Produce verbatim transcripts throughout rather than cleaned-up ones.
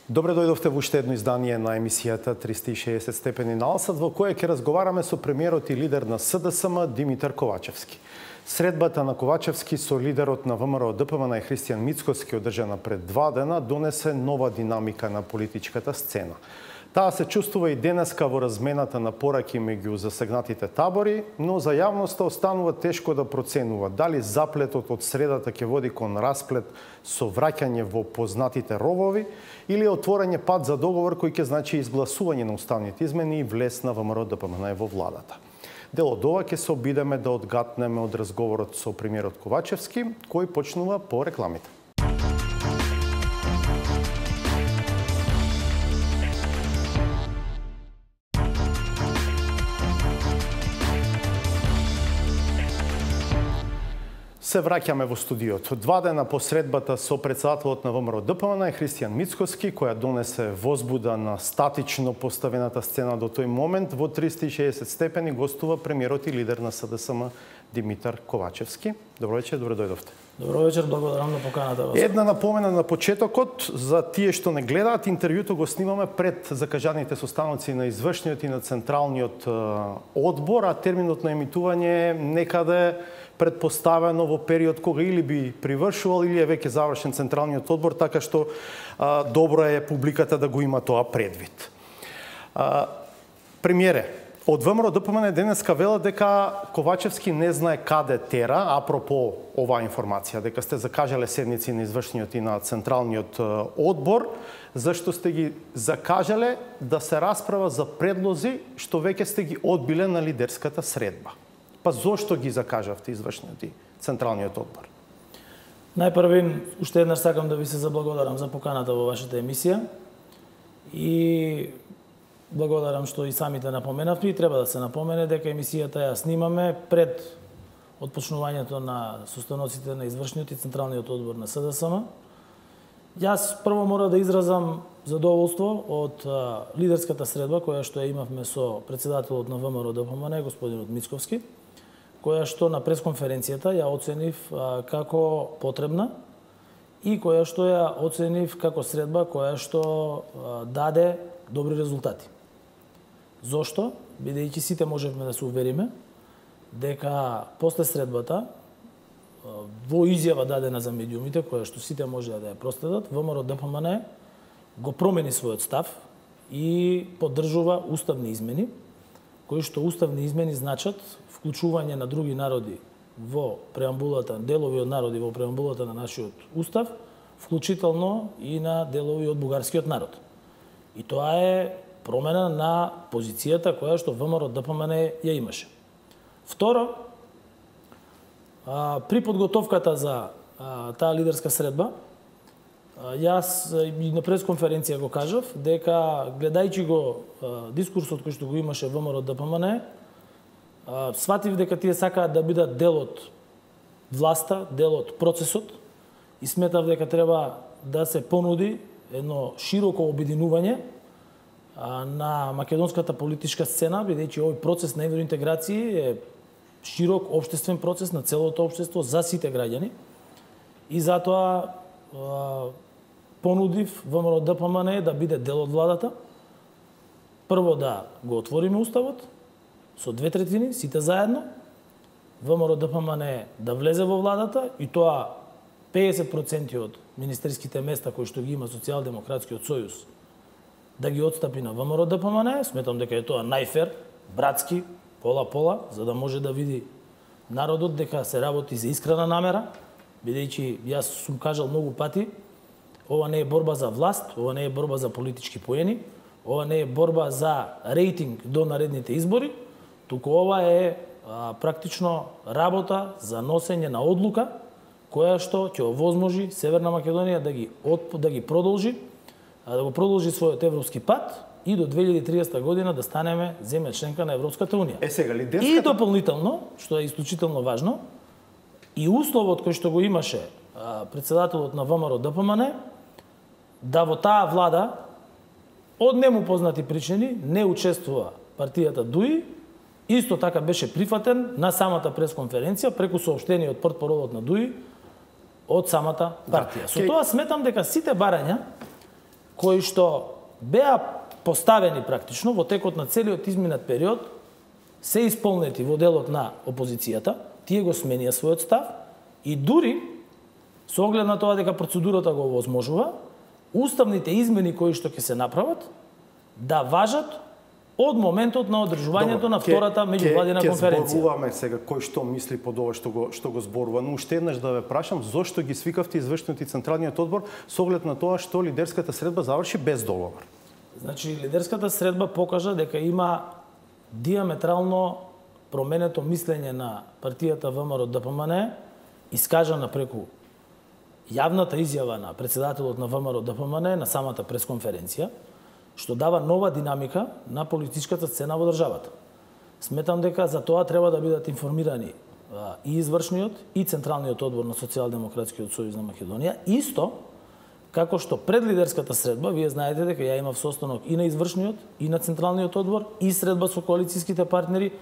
Добре дојдовте во уште едно издание на емисијата триста и шеесет степени на Алсат, во која ќе разговараме со премиерот и лидер на СДСМ Димитар Ковачевски. Средбата на Ковачевски со лидерот на ВМРО-ДПМН и Христијан Мицкоски, одржана пред два дена, донесе нова динамика на политичката сцена. Таа се чувствува и денеска во размената на пораки меѓу засегнатите табори, но за јавноста останува тешко да проценува дали заплетот од средата ќе води кон расплет со враќање во познатите ровови или отворање пат за договор кој ќе значи изгласување на уставните измени и влез на ВМРО-ДПМН во владата. Дел од ова ќе се обидеме да одгатнеме од разговорот со премиерот Ковачевски, кој почнува по рекламите. Се враќаме во студиото. Два дена по средбата со председателот на ВМРО-ДПМН Христијан Мицкоски, која донесе возбуда на статично поставената сцена до тој момент, во триста и шеесет степени гостува премиерот и лидер на СДСМ Димитар Ковачевски. Добро вечер, добре дојдовте. Добро вечер, благодарам на поканата. Една напомена на почетокот за тие што не гледаат, интервјуто го снимаме пред закажаните состаноци на извршниот и на централниот одбор, а терминот на емитување е некаде предпоставено во период кога или би привршувал или е веќе завршен централниот одбор, така што а, добро е публиката да го има тоа предвид. А, премиере, од ВМРО-ДПМН денеска вела дека Ковачевски не знае каде тера, апропо оваа информација, дека сте закажале седници на извршниот и на централниот одбор, зашто сте ги закажале да се расправа за предлози што веќе сте ги одбиле на лидерската средба. Па зошто ги закажавте извршниот и централниот одбор? Најпрвин, уште еднаш сакам да ви се заблагодарам за поканата во вашата емисија и благодарам што и самите напоменавте, и треба да се напомене дека емисијата ја снимаме пред отпочнувањето на состаноците на извршниот и централниот одбор на СДСМ. Јас прво мора да изразам задоволство од а, лидерската средба која што ја имавме со председателот на ВМРО-ДПМН господинот Мицковски, која што на пресконференцијата ја оценив а, како потребна и која што ја оценив како средба која што а, даде добри резултати. Зошто? Бидејќи сите можевме да се увериме дека после средбата а, во изјава дадена за медиумите, која што сите можеа да ја проследат, ВМРО-ДПМН го промени својот став и поддржува уставни измени, кои што уставни измени значат вклучување на други народи во преамбулата, делови од народи во преамбулата на нашиот устав, вклучително и на делови од бугарскиот народ. И тоа е промена на позицијата која што ВМРО-ДПМН ја имаше. Второ, при подготовката за таа лидерска средба, јас и на пресконференција го кажав дека гледајќи го дискурсот кој што го имаше ВМРО-ДПМН, сватив дека тие сакаат да бидат дел од власта, дел од процесот и сметав дека треба да се понуди едно широко обединување на македонската политичка сцена, бидејќи овој процес на евроинтеграција е широк општествен процес на целото општество за сите граѓани и затоа понудив ВМРО-ДПМН да биде дел од владата. Прво да го отвориме уставот со две третини, сите заедно, ВМРО-ДПМН да влезе во владата и тоа педесет проценти од министерските места кои што ги има Социјалдемократскиот сојуз да ги отстапи на ВМРО-ДПМН. Сметам дека е тоа најфер, братски, пола-пола, за да може да види народот дека се работи за искрена намера, бидејќи јас сум кажал многу пати, ова не е борба за власт, ова не е борба за политички поени, ова не е борба за рейтинг до наредните избори, туку ова е а, практично работа за носење на одлука која што ќе овозможи Северна Македонија да ги отп... да ги продолжи, а, да го продолжи својот европски пат и до две илјади и триесета година да станеме земја членка на Европската унија. Е сега лидерската... И дополнително, што е исклучително важно, и условот кој што го имаше а, председателот на ВМРО-ДПМН да во таа влада од нему познати причини не учествува партијата ДУИ, исто така беше прифатен на самата пресконференција преку соопштение од портпаролот на ДУИ од самата партија. Да. Со тоа сметам дека сите барања кои што беа поставени практично во текот на целиот изминат период, се исполнети во делот на опозицијата, тие го сменија својот став и дури со оглед на тоа дека процедурата го овозможува, уставните измени кои што ќе се направат да важат од моментот на одржувањето на втората меѓувладина конференција. Ќе зборуваме сега кој што мисли под ова што го што го зборува, но уште еднаш да ве прашам зошто ги свикавте извршниот и централниот одбор со оглед на тоа што лидерската средба заврши без договор. Значи лидерската средба покажа дека има диаметрално променето мислење на партијата ВМРО-ДПМН, искажана преку јавната изјава на претседателот на ВМРО-ДПМН на самата пресконференција, што дава нова динамика на политичката сцена во државата. Сметам дека за тоа треба да бидат информирани и извршниот и централниот одбор на Социјалдемократскиот сојуз на Македонија, исто како што пред лидерската средба, вие знаете дека ја имав состанок и на извршниот и на централниот одбор, и средба со коалицијските партнери,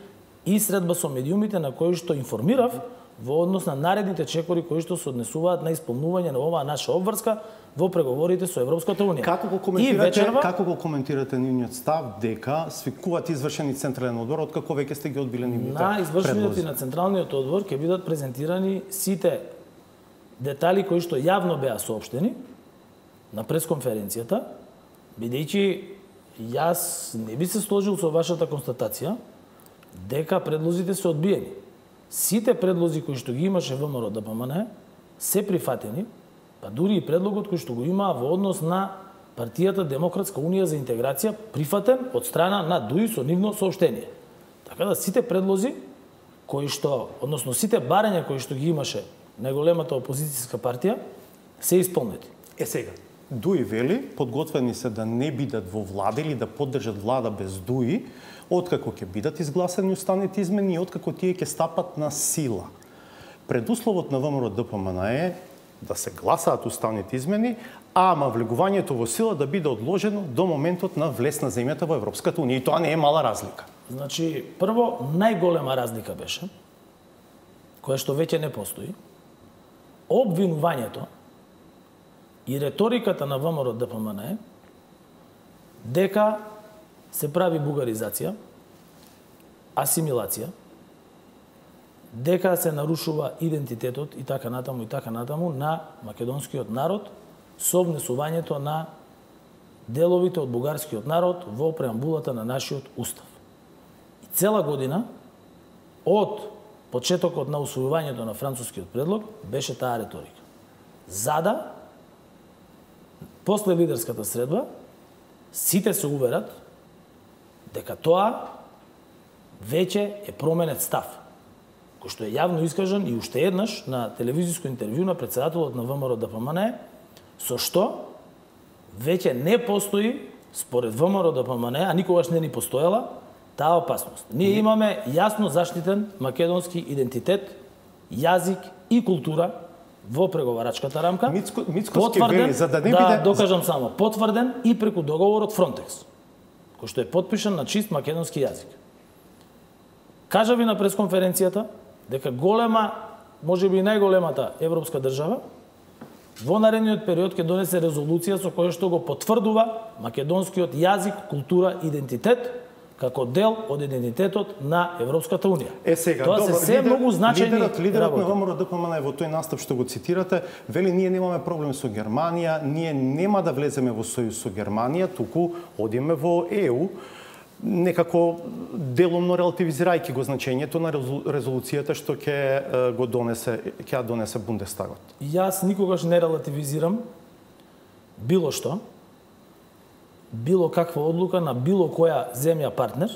и средба со медиумите на кои што информирав во однос на наредните чекори кои што се однесуваат на исполнување на оваа наша обврска во преговорите со Европската унија. Како го коментирате, вечерва... како го коментирате нивниот став дека свикуваат извршени централен одбор, откако веќе сте ги одбиле нивните на извршениот предлози? И на централниот одбор ќе бидат презентирани сите детали кои што јавно беа соопштени на пресконференцијата, бидејќи јас не би се сложил со вашата констатација дека предлозите се одбиени. Сите предлози кои што ги имаше ВМРО-ДПМН се прифатени, па дури и предлогот кој што го има во однос на партијата Демократска унија за интеграција прифатен од страна на ДУИ со нивно соопштение. Така да сите предлози кои што, односно сите барања кои што ги имаше најголемата опозицијска партија се исполнети. Е сега, ДУИ вели, подготвени се да не бидат во влада или да поддржат влада без ДУИ, откако ќе бидат изгласани уставните измени и откако тие ќе стапат на сила. Предусловот на ВМРО-ДПМН е да се гласаат уставните измени, ама влегувањето во сила да биде одложено до моментот на влез на земјата во Европската унија. И тоа не е мала разлика. Значи, прво, најголема разлика беше, која што веќе не постои, обвинувањето и реториката на ВМРО-ДПМН е дека се прави бугаризација, асимилација, дека се нарушува идентитетот и така натаму и така натаму на македонскиот народ со внесувањето на деловите од бугарскиот народ во преамбулата на нашиот устав. И цела година од почетокот на усвојувањето на францускиот предлог беше таа реторика. За да после лидерската средба сите се уверат дека тоа веќе е променет став, кој што е јавно искажан и уште еднаш на телевизиско интервју на претседателот на ВМРО-ДПМН, со што веќе не постои, според ВМРО-ДПМН, а никогаш не ни постоела, таа опасност. Ние имаме јасно заштитен македонски идентитет, јазик и култура во преговарачката рамка. Мицко, Мицковски вели, за да не да биде... докажам само, потврден и преку договорот Фронтекс, кој што е подпишан на чист македонски јазик. Кажа ви на пресконференцијата дека голема, може би најголемата европска држава, во наредниот период ќе донесе резолуција со која што го потврдува македонскиот јазик, култура, идентитет како дел од идентитетот на Европската унија. Е сега, тоа добро, се се лидер, многу значајни лидерот, лидерот работи. на ВМРО-ДПМН во тој настап што го цитирате, вели ние немаме проблем со Германија, ние нема да влеземе во сојуз со Германија, туку одиме во Е У, некако делумно релативизирајќи го значењето на резолуцијата што ќе го донесе, ќе ја донесе Бундестагот. Јас никогаш не релативизирам било што, било каква одлука на било која земја партнер,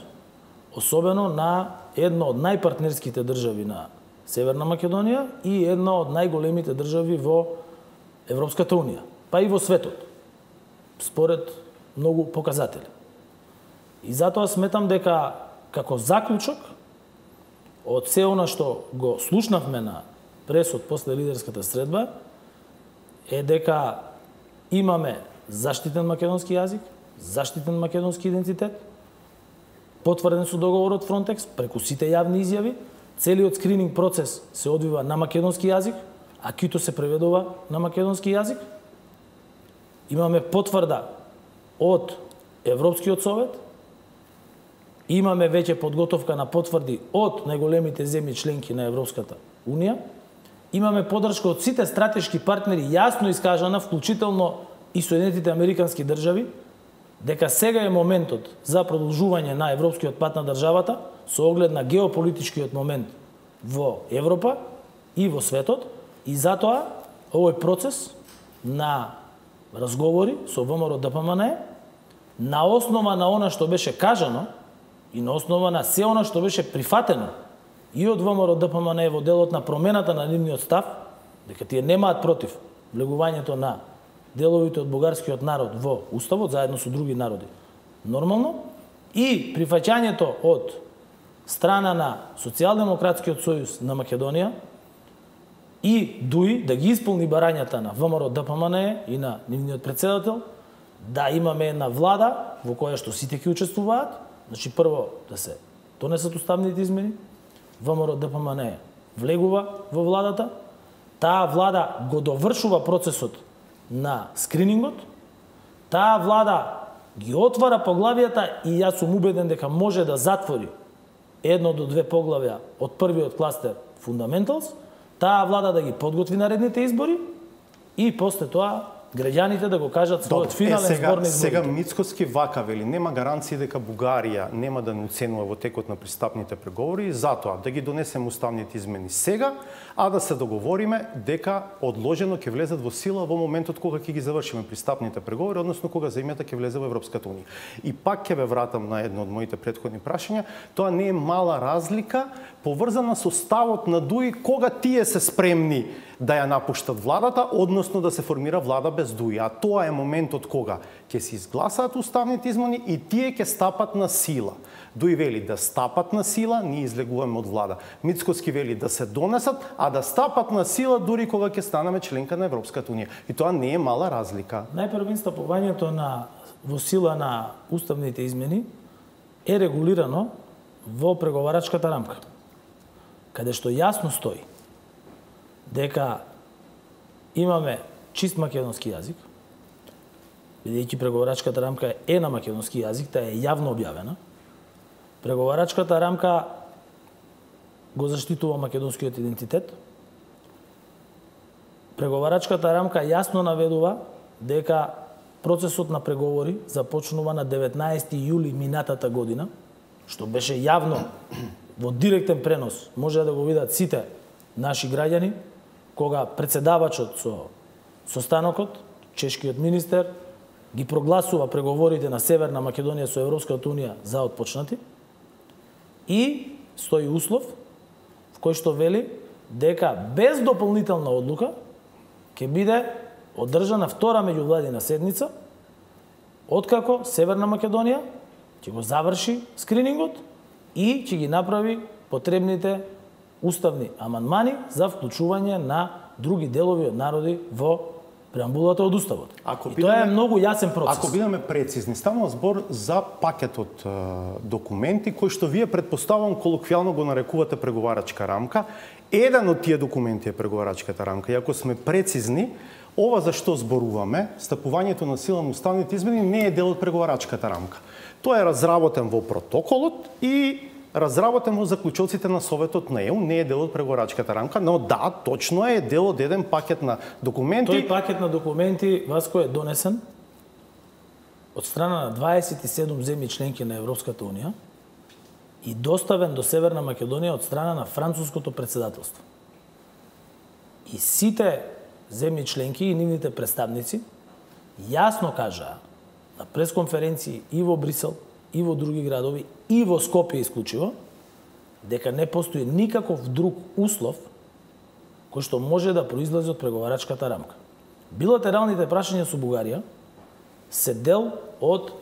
особено на една од најпартнерските држави на Северна Македонија и една од најголемите држави во Европската унија, па и во светот, според многу показатели. И затоа сметам дека како заклучок од се она што го слушнавме на пресот после лидерската средба е дека имаме заштитен македонски јазик, заштитен македонски идентитет, потврден со договорот Фронтекс преку сите јавни изјави, целиот скрининг процес се одвива на македонски јазик, а кито се преведува на македонски јазик. Имаме потврда од Европскиот совет, имаме веќе подготовка на потврди од најголемите земји членки на Европската унија, имаме поддршка од сите стратешки партнери јасно искажана, вклучително и Соединетите Американски држави, дека сега е моментот за продолжување на европскиот пат на државата со оглед на геополитичкиот момент во Европа и во светот, и затоа овој процес на разговори со ВМРО Д П М Н Е на основа на она што беше кажано и на основа на се она што беше прифатено и од ВМРО Д П М Н Е во делот на промената на нивниот став, дека тие немаат против влегувањето на деловите од бугарскиот народ во Уставот, заедно со други народи, нормално, и прифаќањето од страна на Социјалдемократскиот сојуз на Македонија и ДУИ да ги исполни барањата на ВМРО Д П М Н Е и на нивниот председател, да имаме една влада во која што сите ќе учествуваат, значи прво да се донесат уставните измени, ВМРО Д П М Н Е влегува во владата, таа влада го довршува процесот на скринингот, таа влада ги отвара поглавијата и јас сум убеден дека може да затвори едно до две поглавја од првиот кластер Fundamentals, таа влада да ги подготви наредните избори и после тоа граѓаните да го кажат својот финален е, сега, збор на изборите. Сега Мицкоски вака вели, нема гаранција дека Бугарија нема да не оценува во текот на пристапните преговори, затоа да ги донесеме уставните измени сега, а да се договориме дека одложено ќе влезат во сила во моментот кога ќе ги завршиме пристапните преговори, односно кога земјата ќе влезе во Европската унија. И пак ќе ве вратам на едно од моите претходни прашања, тоа не е мала разлика поврзана со ставот на ДУИ кога тие се спремни да ја напуштат владата, односно да се формира влада без ДУИ. А тоа е моментот кога ќе се изгласаат уставните измени и тие ќе стапат на сила. ДУИ вели да стапат на сила, ние излегуваме од влада. Мицкоски вели да се донесат, а да стапат на сила дури кога ќе станеме членка на Европската унија. И тоа не е мала разлика. Најпрво стапувањето на во сила на уставните измени е регулирано во преговарачката рамка, каде што јасно стои дека имаме чист македонски јазик, бидејќи преговарачката рамка е на македонски јазик, таа е јавно објавена. Преговарачката рамка го заштитува македонскиот идентитет. Преговарачката рамка јасно наведува дека процесот на преговори започнува на деветнаесети јули минатата година, што беше јавно во директен пренос, може да го видат сите наши граѓани, кога председавачот со состанокот, чешкиот министер, ги прогласува преговорите на Северна Македонија со Европската унија за отпочнати и стои услов в кој што вели дека без дополнителна одлука ќе биде одржана втора меѓувладина седница откако Северна Македонија ќе го заврши скринингот и ќе ги направи потребните уставни амандмани за вклучување на други делови од народи во преамбулата од Уставот. Ако и тоа е многу јасен процес. Ако бидеме прецизни, станува збор за пакетот е, документи кои што вие предпоставувам колоквијално го нарекувате преговарачка рамка. Еден од тие документи е преговарачката рамка. И ако сме прецизни, ова за што зборуваме, стапувањето на сила на уставните измени не е дел од преговарачката рамка. Тоа е разработен во протоколот и разработен во заклучоците на Советот на Е У, не е дел од преговарачката рамка, но да, точно е дел од еден пакет на документи. Тој пакет на документи, Васко, е донесен од страна на дваесет и седум земји членки на Европската унија и доставен до Северна Македонија од страна на француското председателство. И сите земји членки и нивните представници јасно кажаа на пресконференции и во Брисел, и во други градови, и во Скопје исклучиво, дека не постои никаков друг услов кој што може да произлезе од преговарачката рамка. Билатералните прашања со Бугарија се дел од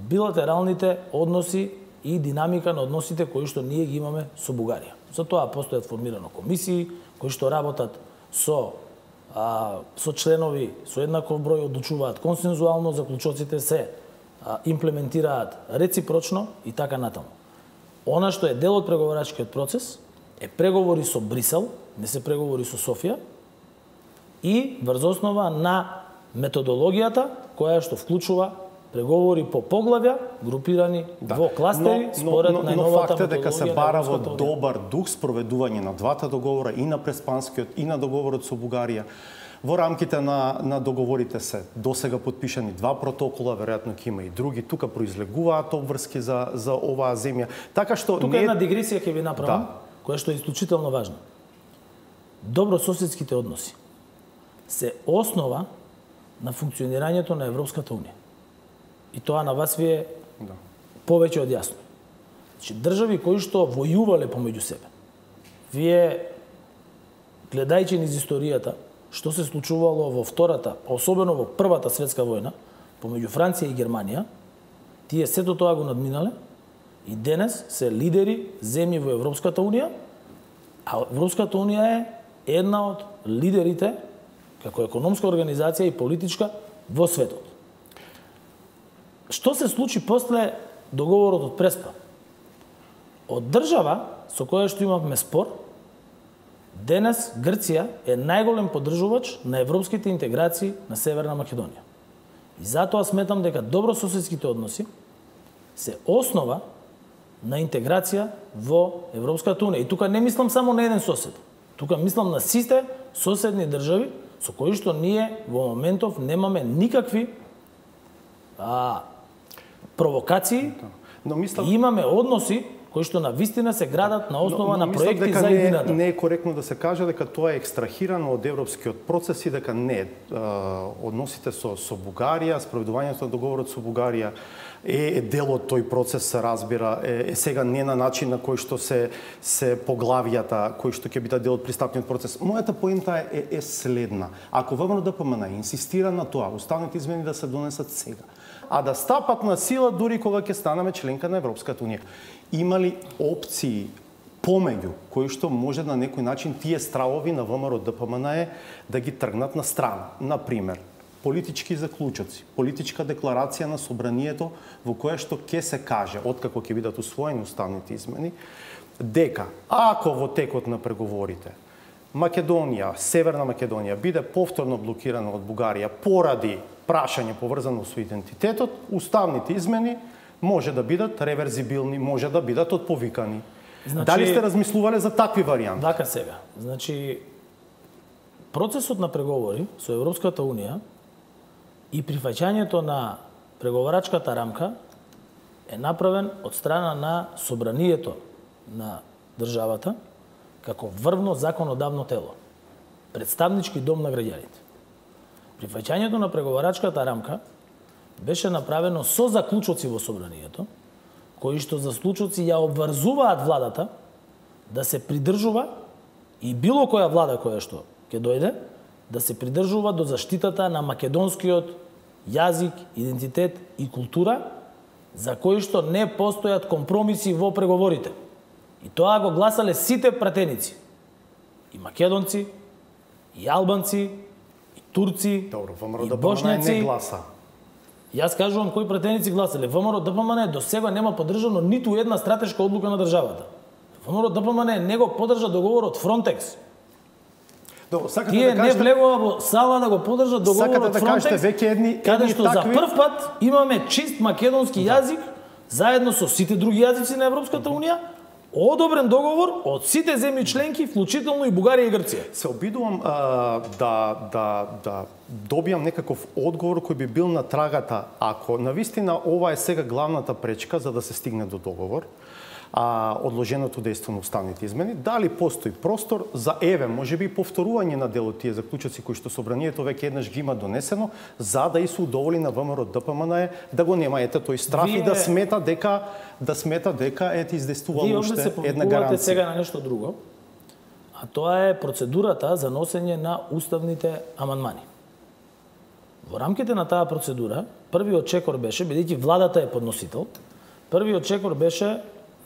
билатералните односи и динамика на односите кои што ние ги имаме со Бугарија. За тоа постојат формирано комисии кои што работат со а, со членови со еднаков број, одлучуваат консензуално, заклучоците се а, имплементираат реципрочно и така натаму. Она што е дел од преговарачкиот процес е преговори со Брисел, не се преговори со Софија, и врз основа на методологијата која што вклучува преговори по поглавја, групирани да. во кластери, но, според но, но, најновата но факт е дека се бара во методологија. добар дух спроведување на двата договора, и на Преспанскиот, и на договорот со Бугарија. Во рамките на, на договорите се досега подпишани два протокола, веројатно ќе има и други. Тука произлегуваат обврски за, за оваа земја. Така што Тука не... една дигресија ќе ви направам, да. која што е исклучително важна. Добрососедските односи се основа на функционирањето на Европската унија. И тоа на вас ви е да. повеќе од јасно. Значи, држави кои што војувале помеѓу себе, вие, гледајќи низ историјата, што се случувало во втората, особено во првата светска војна, помеѓу Франција и Германија, тие сето тоа го надминале и денес се лидери земји во Европската унија, а Европската унија е една од лидерите како економска организација и политичка во светот. Што се случи после договорот од Преспа? Од држава со која што имавме спор, денес Грција е најголем поддржувач на европските интеграции на Северна Македонија. И затоа сметам дека добрососедските односи се основа на интеграција во Европската унија. И тука не мислам само на еден сосед. Тука мислам на сите соседни држави со кои што ние во моментов немаме никакви а, провокации, но мислам... и имаме односи кои што на вистина се градат на основа но, но, на проекти за едината. Не е коректно да се каже дека тоа е екстрахирано од европскиот процес и дека не е. Односите со, со Бугарија, спроведувањето на договорот со Бугарија е, е дел од тој процес, се разбира, е, е сега не на начин на кој што се, се поглавијата, кои што ќе бидат дел од пристапниот процес. Мојата поента е, е, е следна. Ако ВМРО-ДПМН инсистира на тоа, уставните измени да се донесат сега, а да стапат на сила дури кога ќе станеме членка на Европската унија. Има ли опции помеѓу кои што може на некој начин тие стравови на ВМРО-ДПМН е да ги тргнат на страна? Например, политички заклучоци, политичка декларација на собранието во која што ќе се каже, откако ќе бидат усвоени уставните измени, дека ако во текот на преговорите Македонија, Северна Македонија биде повторно блокирана од Бугарија поради прашање поврзано со идентитетот, уставните измени може да бидат реверзибилни, може да бидат отповикани. Значи, дали сте размислувале за такви варијанти? Така сега. Значи, процесот на преговори со Европската унија и прифаќањето на преговарачката рамка е направен од страна на собранието на државата како врвно законодавно тело, представнички дом на граѓаните. Прифаќањето на преговарачката рамка беше направено со заклучоци во собранието, кои што заклучоци ја обврзуваат владата да се придржува, и било која влада која што ќе дојде, да се придржува до заштитата на македонскиот јазик, идентитет и култура, за кои што не постојат компромиси во преговорите. И тоа го гласале сите пратеници. И македонци, и албанци, и турци, Добро, и бошњаци. не гласа. Јас кажувам кои пратеници гласале. ВМРО-ДПМН до сега нема поддржано ниту една стратешка одлука на државата. ВМРО-ДПМН не го поддржа договорот Фронтекс. Добро, сакате Тие да кажете... не влегува во сала да го поддржат договорот да Фронтекс, кажете, веќе едни, каде едни што такви... за прв пат имаме чист македонски да. јазик, заедно со сите други јазици на Европската унија, одобрен договор од сите земји членки, вклучително и Бугарија и Грција. Се обидувам а, да, да, да добијам некаков одговор кој би бил на трагата, ако навистина ова е сега главната пречка за да се стигне до договор, а одложеното дејство на уставните измени, дали постои простор за еве, можеби и повторување на дел од тие заклучоци кои што собранието веќе еднаш ги има донесено, за да и се удоволи на ВМРО-ДПМН да го нема ете тој страф Вие... и да смета дека да смета дека ете издействувало уште една гаранција. Вие сега на нешто друго, а тоа е процедурата за носење на уставните амандмани. Во рамките на таа процедура, првиот чекор беше, бидејќи владата е подносител, првиот чекор беше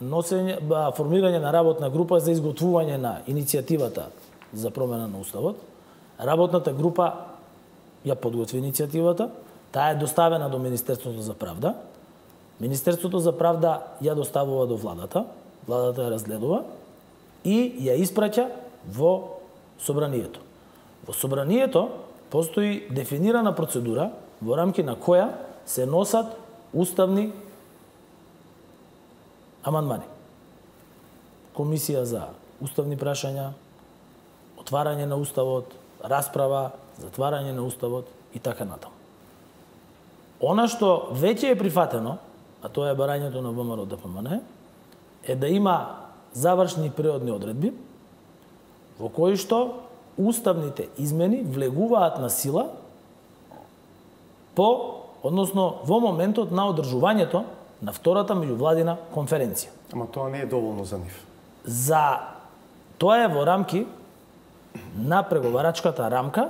носење, формирање на работна група за изготвување на иницијативата за промена на уставот. Работната група ја подготви иницијативата, таа е доставена до Министерството за правда. Министерството за правда ја доставува до владата, владата ја разгледува и ја испраќа во собранието. Во собранието постои дефинирана процедура во рамки на која се носат уставни амандмани. Комисија за уставни прашања, отварање на уставот, расправа, затварање на уставот и така натаму. Она што веќе е прифатено, а тоа е барањето на ВМРО Д П М Н, е да има завршни преодни одредби во кои што уставните измени влегуваат на сила по, односно во моментот на одржувањето на втората меѓувладина конференција. Ама тоа не е доволно за нив. За тоа е во рамки на преговарачката рамка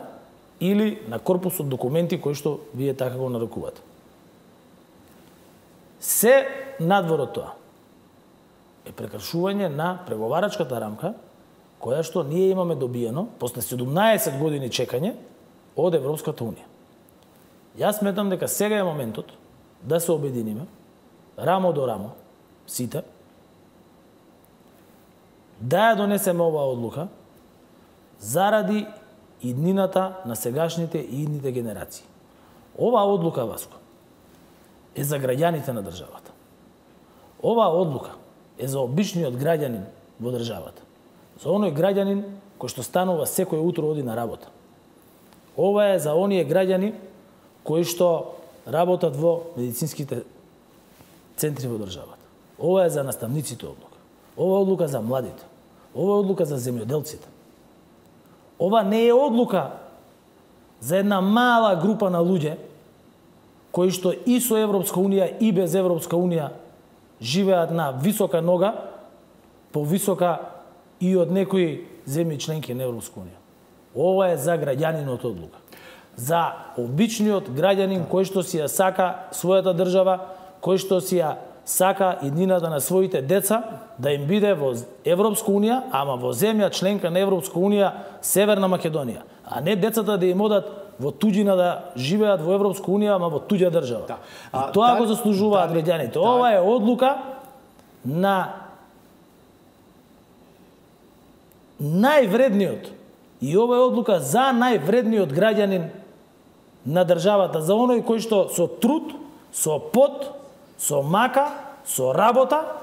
или на корпусот документи кои што вие така го нарекувате. Се надвор од тоа е прекршување на преговарачката рамка која што ние имаме добиено после седумнаесет години чекање од Европската унија. Јас сметам дека сега е моментот да се обединиме рамо до рамо сите, да ја донесеме оваа одлука заради иднината на сегашните и идните генерации. Оваа одлука, Васко, е за граѓаните на државата. Оваа одлука е за обичниот граѓанин во државата. За оној граѓанин кој што станува секој утро оди на работа. Ова е за оние граѓани кои што работат во медицинските центри во државата. Ова е за наставниците одлука. Ова е одлука за младите. Ова е одлука за земјоделците. Ова не е одлука за една мала група на луѓе кои што и со Европска унија и без Европска унија живеат на висока нога, повисока и од некои земји членки на Европска унија. Ова е за граѓанинот одлука. За обичниот граѓанин кој што си ја сака својата држава, кој што си ја сака иднината на своите деца да им биде во Европска унија, ама во земја членка на Европска унија Северна Македонија, а не децата да им одат во туѓина да живеат во Европска унија, ама во туѓа држава. Да. А, и тоа да, го заслужуваат да, граѓаните. Да, ова е одлука на највредниот и ова е одлука за највредниот граѓанин на државата, за оној кој што со труд, со пот, со мака, со работа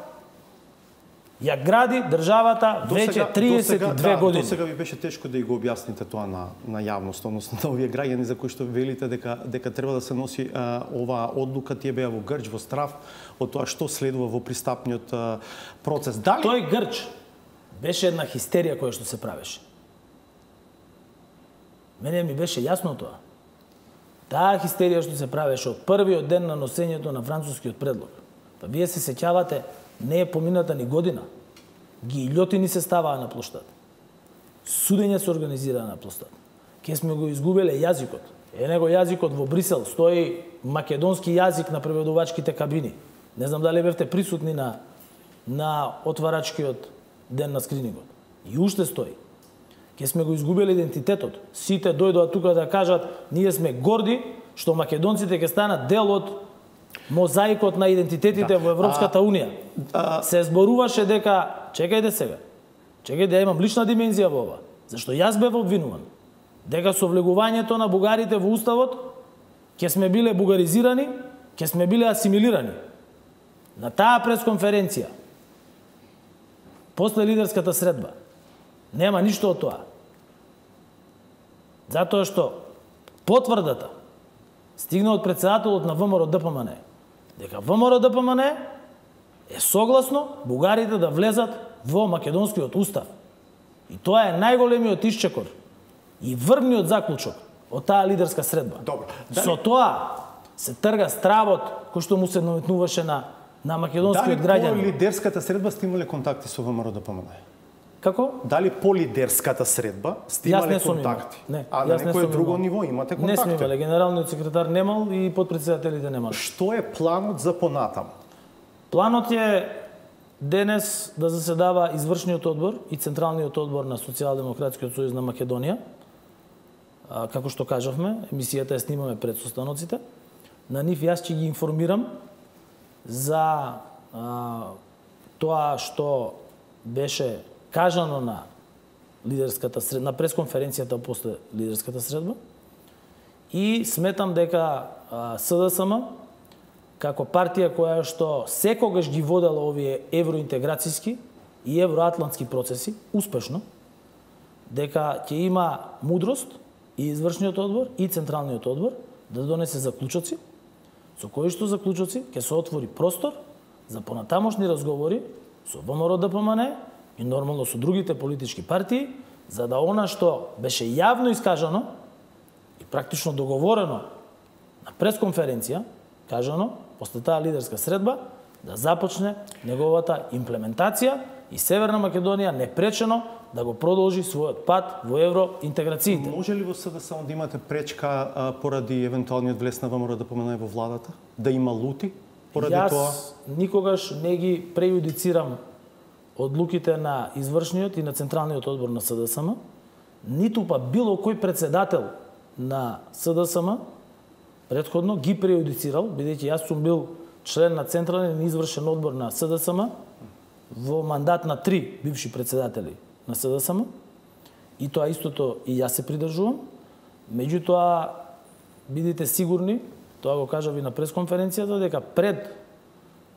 ја гради државата веќе триесет и две години. До сега ви беше тешко да и го објасните тоа на, на јавност, односно на овие граѓани за кои што велите дека дека треба да се носи а, оваа одлука, тие беа во грч, во страв од тоа што следува во пристапниот а, процес. Дали тој грч беше една хистерија која што се правеше? Мене ми беше јасно тоа. Таа хистерија што се правеше од првиот ден на носењето на францускиот предлог. Па вие се сеќавате, не е помината ни година. Гилјотини се ставаа на плоштад. Судење се организираа на плоштад. Ке сме го изгубеле јазикот. Е него јазикот во Брисел стои македонски јазик на преведувачките кабини. Не знам дали бевте присутни на на отварачкиот ден на скринингот. И уште стои. Ке сме го изгубили идентитетот. Сите дојдоа тука да кажат, ние сме горди што македонците ќе станат дел од мозаикот на идентитетите да. во Европската а, унија. А... Се зборуваше дека, чекајте сега, чекајте да имам лична димензија во ова, зашто јас бев обвинуван, дека со влегувањето на бугарите во уставот ќе сме биле бугаризирани, ќе сме биле асимилирани. На таа пресконференција, после лидерската средба, нема ништо од тоа. Затоа што потврдата стигна од председателот на ВМРО Д П М Н, дека ВМРО Д П М Н е согласно бугарите да влезат во македонскиот устав. И тоа е најголемиот исчекор и врвниот заклучок од таа лидерска средба. Добро. Дали... Со тоа се трга стравот кој што му се наметнуваше на на македонскиот граѓанин. Дали по лидерската средба сте имале контакти со ВМРО Д П М Н? Како? Дали по лидерската средба сте имале контакти? Не, а на некој друго ниво имате контакти? Не сме имале, генералниот секретар немал и подпредседателите немал. Што е планот за понатам? Планот е денес да заседава извршниот одбор и Централниот одбор на Социјалдемократскиот сојуз на Македонија. А, како што кажавме, емисијата ја снимаме пред состаноците. На нив јас ќе ги информирам за а, тоа што беше кажано на лидерската средба, на пресконференцијата после лидерската средба И сметам дека СДСМ како партија која што секогаш ги водела овие евроинтеграцијски и евроатлантски процеси успешно, дека ќе има мудрост и извршниот одбор и централниот одбор да донесе заклучоци, со кои што заклучоци ќе се отвори простор за понатамошни разговори со ВМРО-ДПМН и нормално со другите политички партии, за да она што беше јавно искажано и практично договорено на пресконференција, кажано, после таа лидерска средба, да започне неговата имплементација и Северна Македонија непречено да го продолжи својот пат во евроинтеграциите. Може ли во СДСМ да имате пречка а, поради евентуалниот влез на ВМРО-ДПМН во владата? Да има лути поради Јас тоа? Јас никогаш не ги прејудицирам одлуките на извршниот и на централниот одбор на СДСМ, ниту па било кој председател на СДСМ претходно ги прејудицирал, бидејќи јас сум бил член на централен и извршен одбор на СДСМ во мандат на три бивши председатели на СДСМ, и тоа истото и јас се придржувам. Меѓутоа, бидите сигурни, тоа го кажав и на пресконференцијата, дека пред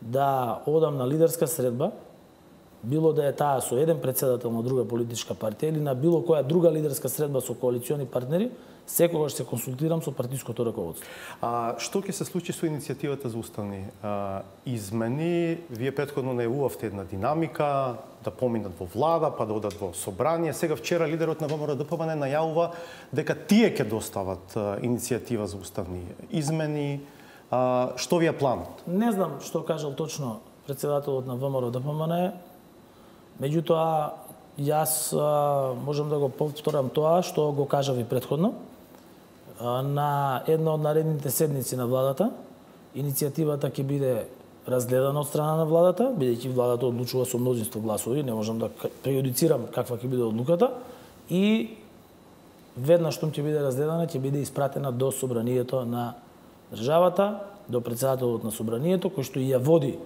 да одам на лидерска средба, било да е таа со еден председател на друга политичка партија или на било која друга лидерска средба со коалициони партнери, секогаш се консултирам со партиското раководство. А што ќе се случи со иницијативата за уставни а, измени? Вие претходно најавувавте една динамика да поминат во влада, па да одат во собрание. Сега вчера лидерот на ВМРО-ДПМН најавува дека тие ќе достават а, иницијатива за уставни измени. А, што ви е планот? Не знам што кажал точно председателот на ВМРО-ДПМН. Меѓутоа, јас а, можам да го повторам тоа што го кажав и претходно. А, на една од наредните седници на владата, иницијативата ќе биде разгледана од страна на владата, бидејќи владата одлучува со мнозинство гласови, не можам да прејудицирам каква ќе биде одлуката, и веднаш што ќе биде разгледана, ќе биде испратена до собранието на државата, до председателот на собранието, кој што и ја води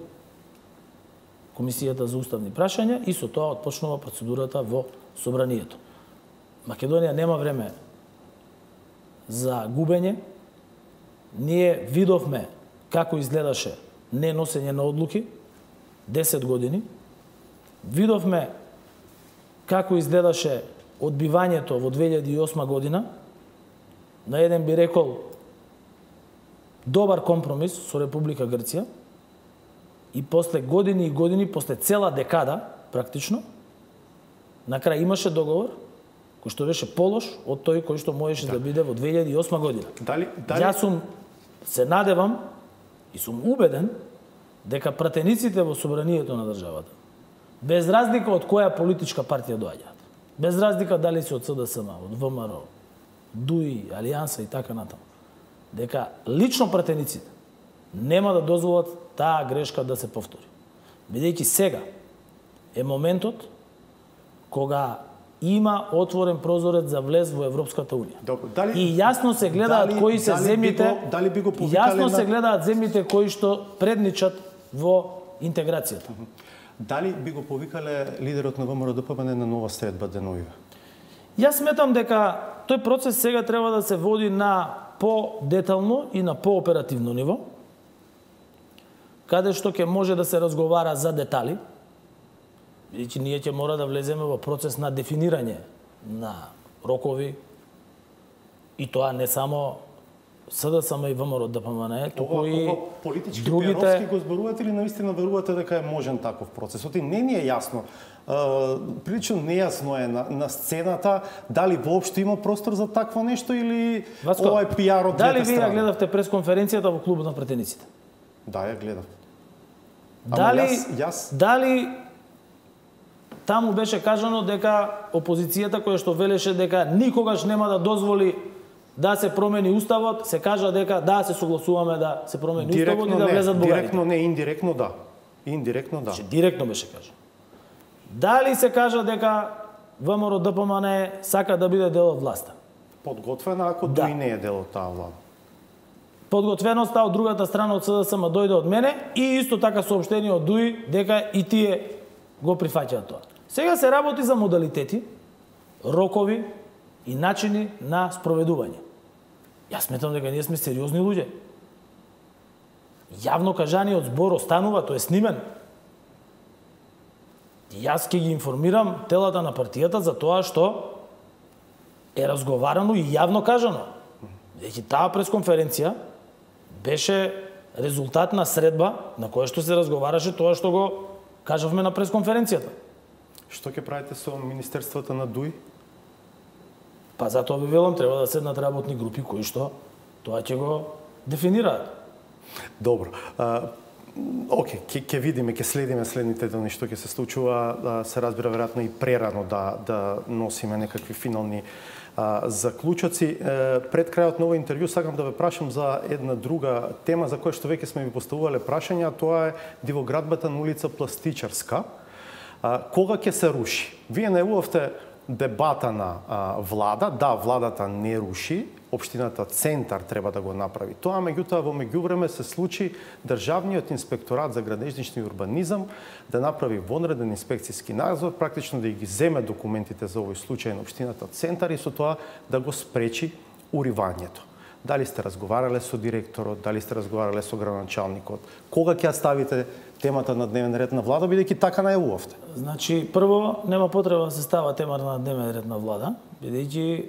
Комисијата за уставни прашања, и со тоа отпочнува процедурата во собранието. Македонија нема време за губење. Ние видовме како изгледаше неносење на одлуки десет години. Видовме како изгледаше одбивањето во две илјади и осма година. На еден би рекол добар компромис со Република Грција. И после години и години, после цела декада, практично, на крај имаше договор кој што беше полош од тој кој што можеше да, да биде во две илјади и осма година. Дали, дали... Јас сум, се надевам и сум убеден дека пратениците во собранието на државата, без разлика од која политичка партија доаѓаат, без разлика дали се од СДСМ, од ВМРО, ДУИ, Алијанса и така натаму, дека лично пратениците нема да дозволат таа грешка да се повтори. Бидејќи сега е моментот кога има отворен прозорец за влез во Европската Унија. Добро, дали, и јасно се гледаат дали, кои се дали земјите, би го, дали би го јасно на... се гледаат земјите кои што предничат во интеграцијата. Дали би го повикале лидерот на ВМРО-ДПМН на нова средба деновиве? Јас сметам дека тој процес сега треба да се води на по-детално и на по-оперативно ниво, каде што ќе може да се разговара за детали, бидејќи ние ќе мора да влеземе во процес на дефинирање на рокови, и тоа не само СДСМ и ВМРО-ДПМН, туку и политички другите... пиаровски го зборувате или наистина верувате дека е можен таков процес? Оти не ни е јасно. Uh, прилично нејасно е на, на сцената дали воопшто има простор за такво нешто или Васко, ова е пиар од двете страни. Дали вие ја гледавте пресконференцијата во клубот на пратениците? Да, ја гледав. Дали, јас, јас... дали таму беше кажано дека опозицијата која што велеше дека никогаш нема да дозволи да се промени уставот, се кажа дека да се согласуваме да се промени директно уставот и да не, влезат бугарите. Директно не, индиректно да. Индиректно да. Че директно беше кажано. Дали се кажа дека ВМРО-ДПМН сака да биде дел од власта? Подготвена, ако да. Дуи не е дел од таа влада. Подготвеноста од другата страна од СДСМ дојде од мене и исто така соопштение од Дуи дека и тие го прифаќаат тоа. Сега се работи за модалитети, рокови и начини на спроведување. Јас сметам дека ние сме сериозни луѓе. Јавно кажаниот збор останува, тој е снимен. Јас ќе ги информирам телата на партијата за тоа што е разговарано и јавно кажано. Дејќи таа пресконференција беше резултат на средба на која што се разговараше тоа што го кажавме на пресконференцијата. Што ќе правите со министерствата на ДУИ? Па затоа ви велам, треба да седнат работни групи кои што тоа ќе го дефинираат. Добро. А, Оке, ќе ќе видиме, ќе следиме следните дни што ќе се случува, а, се разбира веројатно и прерано да да носиме некакви финални а, заклучоци. Е, пред крајот на овој интервју сакам да ве прашам за една друга тема за која што веќе сме ви поставувале прашања, тоа е дивоградбата на улица Пластичарска. А, кога ќе се руши? Вие најавувавте дебата на а, влада, да, владата не руши, општината Центар треба да го направи тоа, меѓутоа во меѓувреме се случи Државниот инспекторат за градежнични урбанизам да направи вонреден инспекцијски надзор, практично да ги земе документите за овој случај на општината Центар и со тоа да го спречи уривањето. Дали сте разговарале со директорот, дали сте разговарале со градоначалникот? Кога ќе ја ставите темата на дневен ред на влада, бидејќи така најавувавте? Значи, прво, нема потреба да се става темата на дневен ред на влада, бидејќи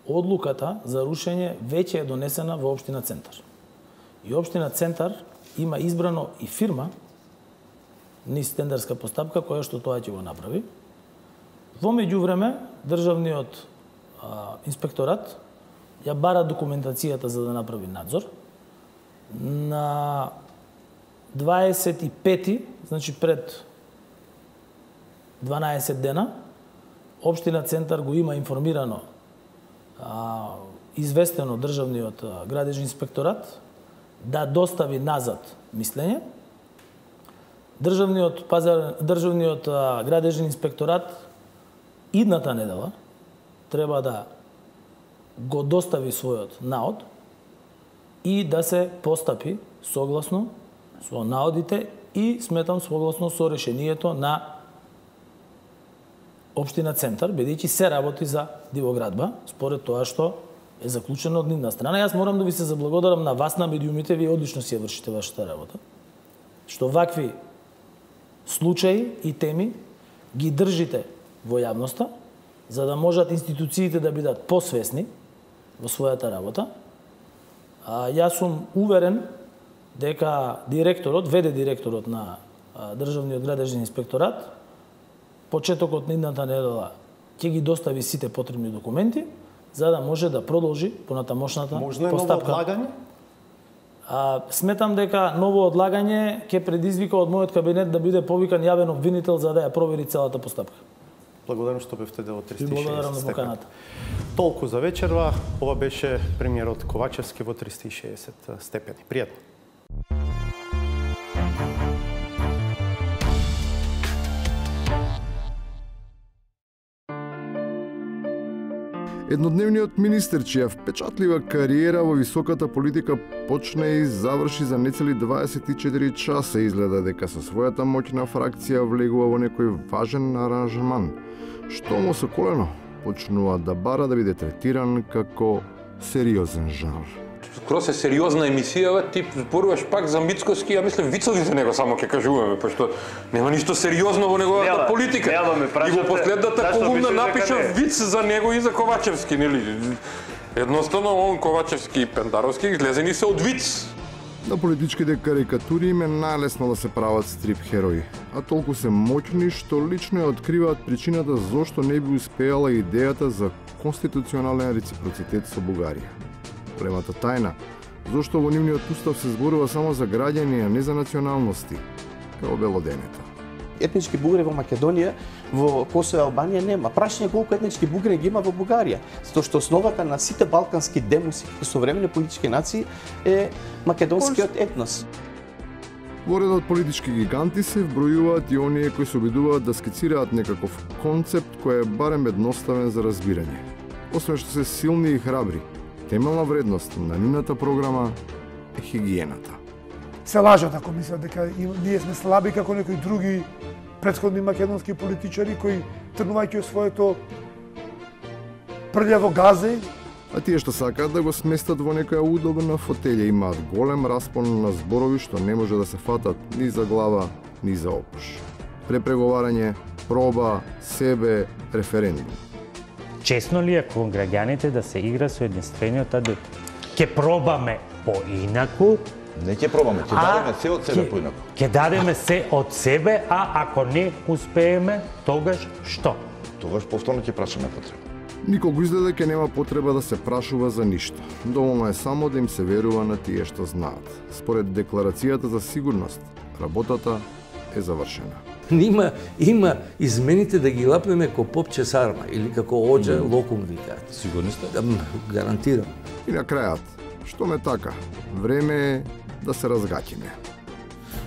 одлуката за рушење веќе е донесена во општина Центар. И општина Центар има избрано и фирма низ тендерска постапка која што тоа ќе го направи. Во меѓувреме, државниот а, инспекторат ја бара документацијата за да направи надзор. На дваесет и пети, значи пред дванаесет дена, општина Центар го има информирано, а, известено државниот градежен инспекторат да достави назад мислење. Државниот пазар, државниот а, градежен инспекторат идната недела треба да го достави својот наод и да се постапи согласно со наодите и сметам согласно со решението на општина Центар, бидејќи се работи за дивоградба, според тоа што е заклучено од нивна страна. Јас морам да ви се заблагодарам на вас, на медиумите, вие одлично си ја вршите вашата работа. Што вакви случаи и теми ги држите во јавноста, за да можат институциите да бидат посвесни во својата работа. А, јас сум уверен дека директорот, веде директорот на а, Државниот градежен инспекторат, почетокот на идната недела ќе ги достави сите потребни документи, за да може да продолжи понатамошната Можно постапка. Можно е ново одлагање? А, сметам дека ново одлагање ќе предизвика од мојот кабинет да биде повикан јавен обвинител за да ја провери целата постапка. Благодарам што бевте дел од триста и шеесет Благодарам на степени. поканата. Толку за вечерва. Ова беше премиерот Ковачевски во триста и шеесет степени. Пријатно. Еднодневниот министер, чија впечатлива кариера во високата политика почна и заврши за нецели дваесет и четири часа, изгледа дека со својата моќна фракција влегува во некој важен аранжман. Што му со колено почнува да бара да биде третиран како сериозен жанр. Скроз е сериозна емисија, ти зборуваш пак за Мицкоски, ја мислам вицови за него само ќе кажуваме, пошто нема ништо сериозно во неговата Нема, политика. нема, ме и во последната зашто колумна пишеш дека напишав не? виц за него и за Ковачевски, нели? Едноставно, он Ковачевски и Пендаровски излезени се од виц. На политичките карикатури им е најлесно да се прават стрип херои, а толку се моќни што лично ја откриваат причината зошто не би успеала идејата за конституционален реципроцитет со Бугарија. Големата тајна, зошто во нивниот устав се зборува само за граѓани, а не за националности, како белоденета. Етнички бугари во Македонија, во Косово и Албанија нема. Прашање колку етнички бугари ги има во Бугарија, затоа што основата на сите балкански демоси и современи политички нации е македонскиот етнос. Во редот политички гиганти се вбројуваат и оние кои се обидуваат да скицираат некаков концепт кој е барем едноставен за разбирање. Освен што се силни и храбри, темелна вредност на нивната програма е хигиената. Се лажат ако мислат дека ние сме слаби како некои други претходни македонски политичари кои тргнувајќи од своето прљаво газе А тие што сакаат да го сместат во некоја удобна фотелја имаат голем распон на зборови што не може да се фатат ни за глава, ни за окуш. Препреговарање, проба, себе, референдум. Честно ли е кон граѓаните да се игра со единствениот адут? Ке пробаме поинаку, Не ќе пробаме, ќе дадеме се од себе поинаку. Ќе дадеме се од себе, а ако не успееме, тогаш што? Тогаш повторно ќе прашаме потреба. Никогу изгледа ќе нема потреба да се прашува за ништо. Доволно е само да им се верува на тие што знаат. Според декларацијата за сигурност, работата е завршена. Има, има измените да ги лапнеме ко попче сарма или како оџа локум викаат. Сигурни сте? Гарантирам. И на крајот, што ме така, време е да се разгаќиме.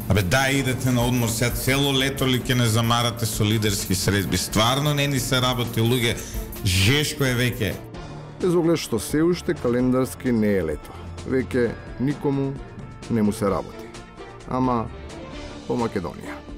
Абе, да, идете на одмор сега цело лето ли ќе не замарате со лидерски средби? Стварно не ни се работи, луѓе. Жешко е веќе. Без оглед што се уште календарски не е лето. Веќе никому не му се работи. Ама по Македонија.